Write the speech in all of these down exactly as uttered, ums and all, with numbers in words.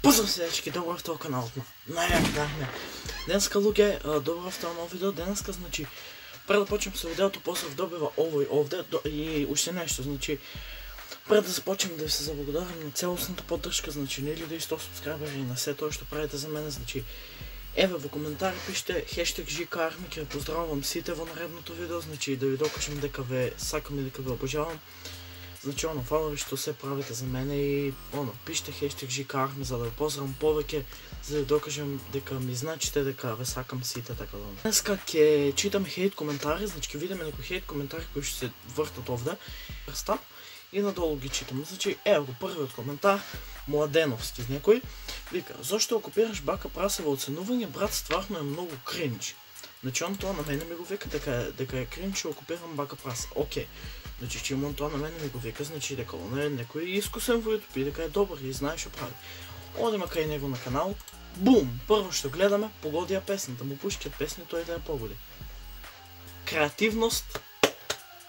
Поздрав селечки, добро в този канал. Најак дахме. Денеска луѓе, добро в това ново видео. Денеска, значи, пред да почнем со видеото, поздрав добива овој овде и уште нешто, значи, пред да започнем да ви се заблагодарам на целосната поддршка, значи, на илјада и сто субскрайбери и на се тоа што правите за мене, значи, еве во коментари пишете хештег ЖКАрми, ќе поздравувам сите во наредното видео, значи, да ви докажам дека ве сакам и дека ве обожавам. Значи, оно, фала ви што се правите за мене и, оно, пишете хештег ЖКАрми за да ви поздравам повеќе, за да ви докажам дека ми значите, дека ве сакам сите, така да. Денеска ќе читаме хейт коментари, значи ќе видиме некои хейт коментари кои што се вртат овде. Стап и надолу ги читам. Значи, ево го првиот коментар, Младеновски некој, вика: "Зошто окупираш бака прасе во оценување, брат, стварно е многу кринч." Значи, он тоа на мене ми го вика дека дека е кринч што окупирам бака прасе. Океј. Значи, че он тоа на мене ми го вика, значи дека он е некој искусен во YouTube и дека е добар и знае што прави. Одиме кај него на канал, бум, прво што гледаме, погоди ја песната, му пушкиат песни, тој да ја погоди. Креативност.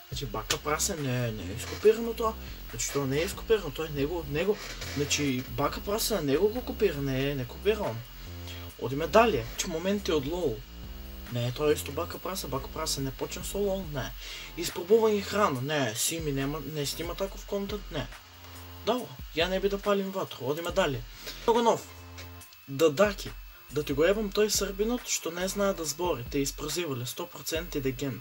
Значи, бака прасе не, не е ископирано тоа, значи тоа не е ископирано, тоа е него од него, значи бака прасе на него го копира, не е, не копира он. Одиме далje, че моменти од лол. Не, тоа е исто бака прасе, бака прасе не почна со лол, не. Испробување храна, не, Сими нема, не снима таков контент, не. Добро, ја не би да палим ватру, одиме далje. Много нов. Дадаки, да ти го ебам тој србинот што не знае да збори, те изпрозивале сто проценти деген.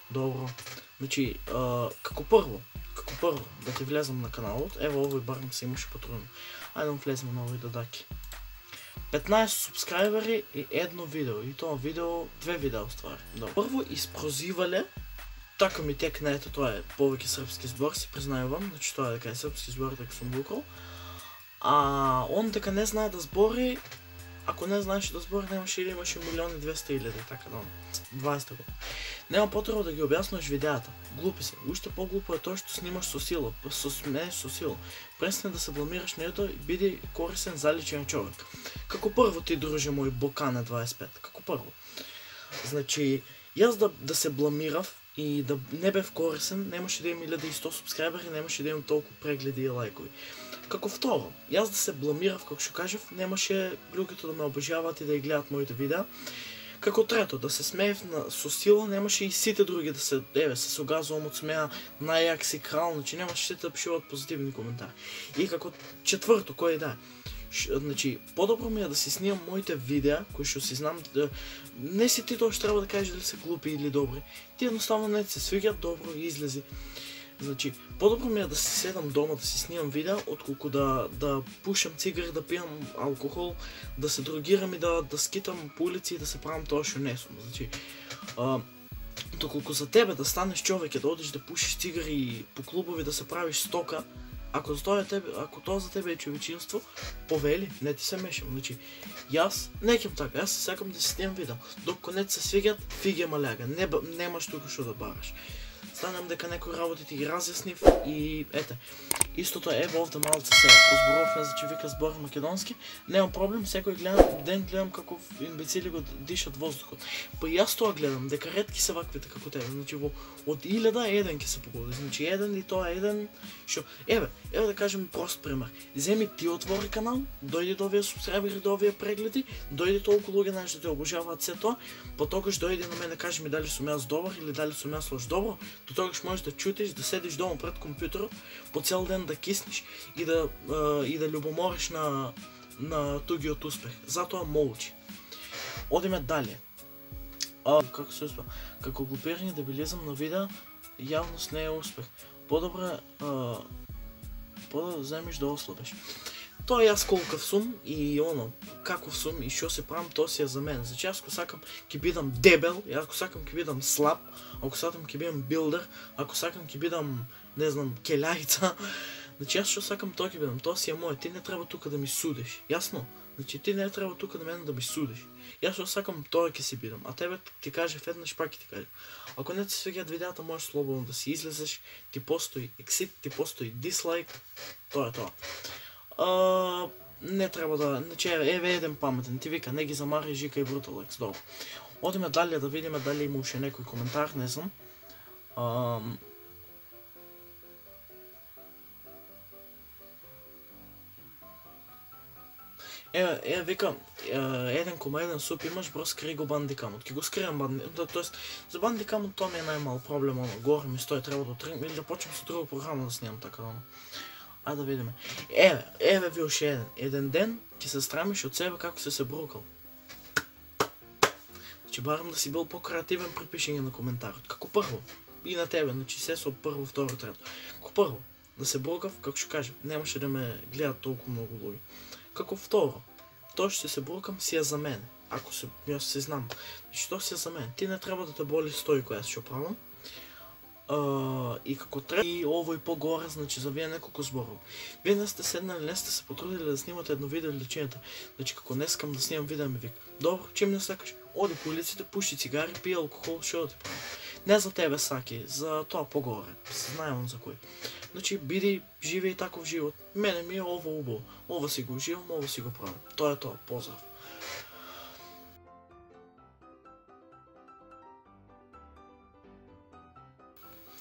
Добро. Значи, а, како прво, како прво, да ти влезам на каналот, ево овој барем се имаше потрудно. Ајде да влезем на овој дадаки. петнаесет субскрайбери и едно видео, и тоа видео, две видео ствари. Добро. Прво изпрозивале, така ми текна, ето тоа е повеќе српски збор, си признајувам, значи тоа е дека е српски збор, дека сум букал. А он дека не знае да збори, ако не знаеше да збори, немаше или имаше милиони и двеста илјади, така да, дваесет година. Нема потреба да ги објаснуваш видеата. Глупи се. Уште поглупо е тоа што снимаш со сила, со смееш со сила. Престани да се бламираш на ето и биди корисен, заличен човек. Како прво ти, друже мој, Бокане дваесет и пет, како прво. Значи, јас да, да се бламирав и да не бев корисен, немаше да имам илјада и сто субскрайбери, немаше да имам толку прегледи и лајкови. Како второ, јас да се бламирав, како што кажав, немаше луѓето да ме обожаваат и да ја гледат моите видеа. Како трето, да се смеев на, со сила, немаше и сите други да се, еве, се согазувам од смеа, најак си крал, значи немаше сите да пишуват позитивни коментари. И како четврто, кој да е, значи, подобро ми е да си снимам моите видеа, кои што си знам, да, не си ти тоа што треба да кажеш дали се глупи или добри, ти едноставно не се свиѓат, добро и излези. Значи, подобро ми е да си седам дома, да си снимам видеа, отколку да, да пушам цигари, да пијам алкохол, да се дрогирам и да, да скитам по улици и да се правам тоа што не сум. Значи, а, доколку за тебе да станеш човек и да одиш да пушиш цигари по клубови, да се правиш стока, ако тоа, тебе, ако тоа за тебе е човечинство, повели, не ти се мешам. Значи, јас не кем така, јас се сакам да си снимам видео. Докато не се свиѓат, фиге маляга, не, немаш тука што да бараш. Станам дека некои работи ти ги разјаснив и ете, истото е, ево овде малце се позборувавме за че вика збори македонски, немам проблем, секој гледам, ден гледам како имбецили го дишат воздухот. Па јас тоа гледам, дека ретки се ваквите како тебе, значи во од илјада еден ќе се погоди, значи еден и тоа еден, што, еве, еве да кажем прост пример, земи ти отвори канал, дојди до овие субскрайбери, до овие прегледи, дојди толку луѓе знаеш да те обожаваат се тоа, потогаш дојди на мене, кажи ми дали сум јас добар или дали сум јас лош. Добро, до тогаш можеш да чутиш, да седиш дома пред компјутерот, по цел ден да киснеш и да uh, и да љубомориш на на тугиот успех. Затоа молчи. Одиме далje. А, како се успеа? Како глупирање дебилизам на видео, јавност не е успех. Подобро uh, подобро земиш да ослабеш. Тоа јас колкав сум и оно, каков сум и што се правам, тоа си е за мене. Значи јас ако сакам ќе бидам дебел, јас ако сакам ќе бидам слаб, ако сакам ќе бидам билдер, ако сакам ќе бидам, не знам, келјајца, значи јас што сакам тоа ќе бидам, тоа си е моје, ти не треба тука да ми судиш, јасно? Значи ти не треба тука на мене да ми судиш. Јас што сакам тоа ќе си бидам, а тебе ти кажев еднаш пак ќе ти кажем. Ако не ти свиѓаат видеата, можеш слободно да си излезеш, ти постои ексит, ти постои дислайк, тоа е тоа. Uh, не треба да, значи еве еден паметен, ти вика, не ги замари Жика и Бруталекс, добро. Одиме далje да видиме дали има уште некој коментар, не знам. Uh, Еве, еве вика, еден кома еден суп имаш, бро скри го бандикамот. Ке го скријам бандикамот, тоест за бандикамот тоа ми е најмал проблем, оно, горе ми стои, треба да тргнем или да почнем со друга програма да снимам така, оно. Ајде да видиме. Еве, еве ви уште еден. Еден ден ќе се страмиш од себе како се се брукал. Значи барам да си бил по-креативен при пишење на коментарот. Како прво, и на тебе, значи се со прво, второ, трето. Како прво, да се брукав, како што кажем, немаше да ме гледат толку многу луѓе. Како второ, тоа што се брукам си е за мене. Ако се, јас се знам, значи тоа си е за мене. Ти не треба да те боли стои која што правам. Uh, и како треба и ово и по-горе, значи за вие неколку зборов. Вие не сте седнали, не сте се потрудили да снимате едно видео или лечењето. Значи како не искам да снимам видео ми вика. Добро, чим не сакаш? Оди по улиците, пушти цигари, пие алкохол, што да ти прави. Не за тебе саки, за тоа по-горе. Знаем за кој. Значи биди живеј таков живот. Мене ми е ово убаво. Ово си го уживам, ово си го правам. Тоа е тоа. Поздрав.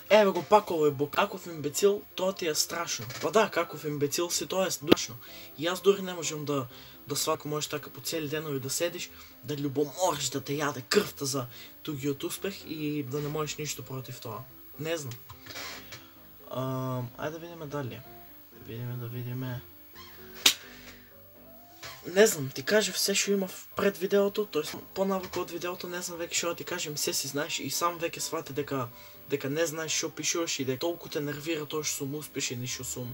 Еве го пак овој бок. Каков имбецил, тоа ти е страшно. Па да, каков имбецил си, тоа е страшно. И јас дори не можам да да свакам можеш така по цели денови да седиш, да љубомориш да те јаде крвта за тугиот успех и да не можеш ништо против тоа. Не знам. Uh, ајде да видиме дали. Да видиме, да видиме. Не знам, ти кажев се што има пред видеото, тоест понавако од видеото, не знам веќе што да ти кажем, се си знаеш и сам веќе свати дека дека не знаеш што пишуваш и дека толку те нервира тоа што сум успешен и што сум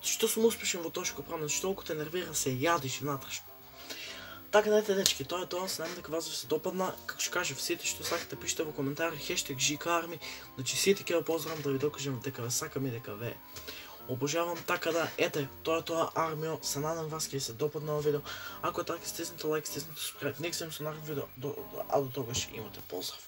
што сум успешен во тоа што го правам, што толку те нервира се јадиш внатрешно. Така дете дечки, тоа е тоа, знам дека вас се допадна, како што кажев, сите што сакате пишете во коментари хештег ЖКарми, значи сите ќе ве поздравам да ви докажам дека ве сакам и дека ве обожавам, така да, ете, тоа е тоа Армио, се надам вас ќе се допадна овој видео. Ако е така, стиснете лайк, стиснете subscribe, нека се видиме со наредно видео, а до тогаш имате поздрав.